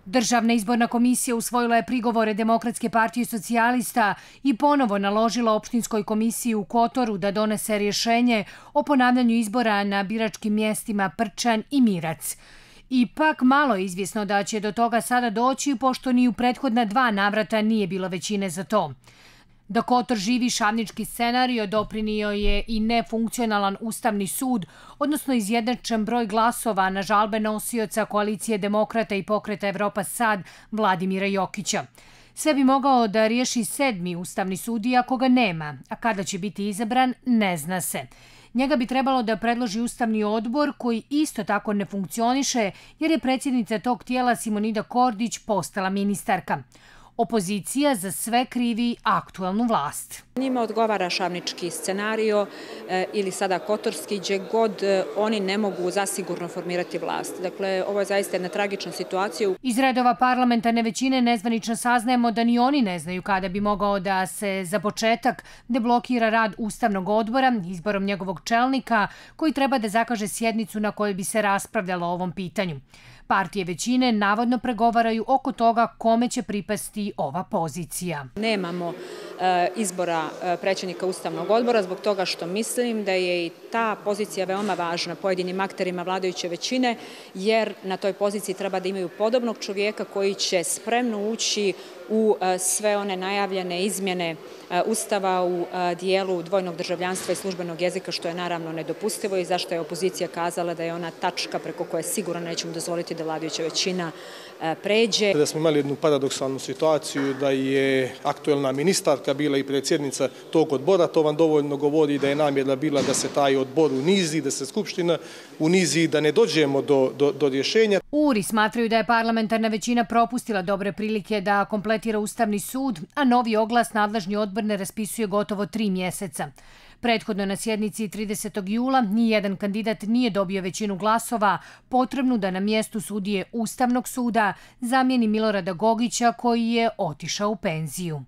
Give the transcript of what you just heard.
Državna izborna komisija usvojila je prigovore Demokratske partije socijalista i ponovo naložila opštinskoj komisiji u Kotoru da donese rješenje o ponavljanju izbora na biračkim mjestima Prčan i Mirac. Ipak malo je izvjesno da će do toga sada doći, pošto ni u prethodna 2 navrata nije bilo većine za to. Da Kotor živi šavnički scenario doprinio je i nefunkcionalan Ustavni sud, odnosno izjednačen broj glasova na žalbe nosioca koalicije Demokrata i Pokreta Evropa Sad Vladimira Jokića. Sve bi mogao da riješi 7. Ustavni sud, iako ga nema, a kada će biti izabran ne zna se. Njega bi trebalo da predloži Ustavni odbor, koji isto tako ne funkcioniše jer je predsjednica tog tijela Simonida Kordić postala ministarka. Opozicija za sve krivi aktuelnu vlast. Njima odgovara šavnički scenario ili sada kotorski, gdje god oni ne mogu zasigurno formirati vlast. Dakle, ovo je zaista jedna tragična situacija. Iz redova parlamentarne većine nezvanično saznajemo da ni oni ne znaju kada bi mogao da se za početak deblokira rad Ustavnog odbora izborom njegovog čelnika, koji treba da zakaže sjednicu na kojoj bi se raspravljalo o ovom pitanju. Partije većine navodno pregovaraju oko toga kome će pripasti ova pozicija. Nemamo izbora predsjednika Ustavnog odbora zbog toga što mislim da je i ta pozicija veoma važna pojedinim akterima vladajuće većine, jer na toj poziciji treba da imaju podobnog čovjeka koji će spremno ući u sve one najavljene izmjene Ustava u dijelu dvojnog državljanstva i službenog jezika, što je naravno nedopustivo i zašto je opozicija kazala da je ona tačka preko koje sigurno nećemo dozvoliti da vladajuća većina pređe. Da smo imali jednu paradoksalnu situaciju da je aktuelna ministarka bila i predsjednica tog odbora, to vam dovoljno govori da je namjera bila da se taj odbor unizi, da se Skupština unizi, da ne dođemo do rješenja. URI smatraju da je parlamentarna većina propustila dobre prilike da kompletira Ustavni sud, a novi oglas nadležni odbor ne raspisuje gotovo 3 mjeseca. Prethodno na sjednici 30. jula nijedan kandidat nije dobio većinu glasova potrebnu da na mjestu sudije Ustavnog suda zamijeni Milorada Gogića, koji je otišao u penziju.